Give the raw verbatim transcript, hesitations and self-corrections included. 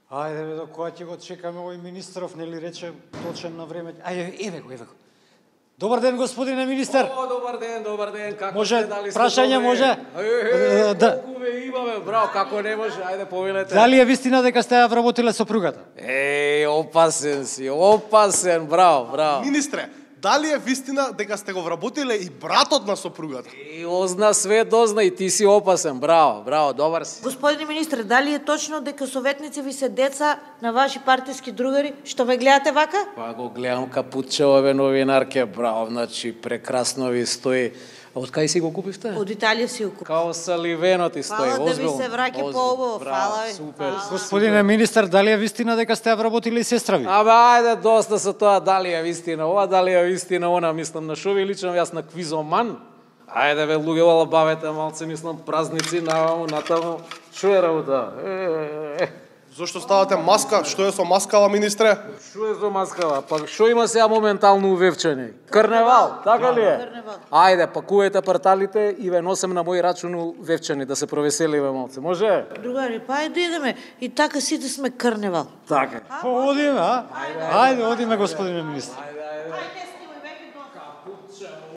Ајде бе, до кога ќе го чекаме овој министров, нели рече точен на време. Ајде, еве го, еве го. Добар ден, господине министер. О, добар ден, добар ден. Како може, сте, дали сте прашање добре? може? Е, е, Да. колку ве имаме, браво, како не може, ајде повелете. Дали е вистина дека сте ја вработиле сопругата? Еј, опасен си, опасен, браво, браво. Министре, дали е вистина дека сте го вработиле и братот на сопругата? И озна све дозна и ти си опасен, браво, браво, добар си. Господине министре, дали е точно дека советници ви се деца на ваши партиски другари, што ве гледате вака? Па го гледам капутчевове новинарке, браво, значи прекрасно ви стои. А од кај си го купивте? Од Италија си го. Као саливено ти стои, Фала да ви озбилно. се враќа озбилно. поубаво, Браво, фала ви. Супер. Фала. Господине министер, дали е вистина дека сте ја вработиле и сестра ви? Абе, ајде, доста со тоа, дали е вистина ова, дали е вистина она, мислам, на шо ви личам јас на квизоман. Ајде, бе, луѓе, бавете малце, мислам, празници, наваму, натаму. Шо е работа? Е, е, е. Зошто ставате маска? Што е со маскава, министре? Шо е за маскава? Па шо има сега моментално увевчани? Карневал, така ли е? Карневал. Ајде, пакувајте парталите и ве носем на мој рачун увевчани, да се провеселиме малце. Може? Другари, па ајде идеме. И така сите сме карневал. Така. Па одиме, а? Ајде, одиме, господине министер. Ајде, ајде.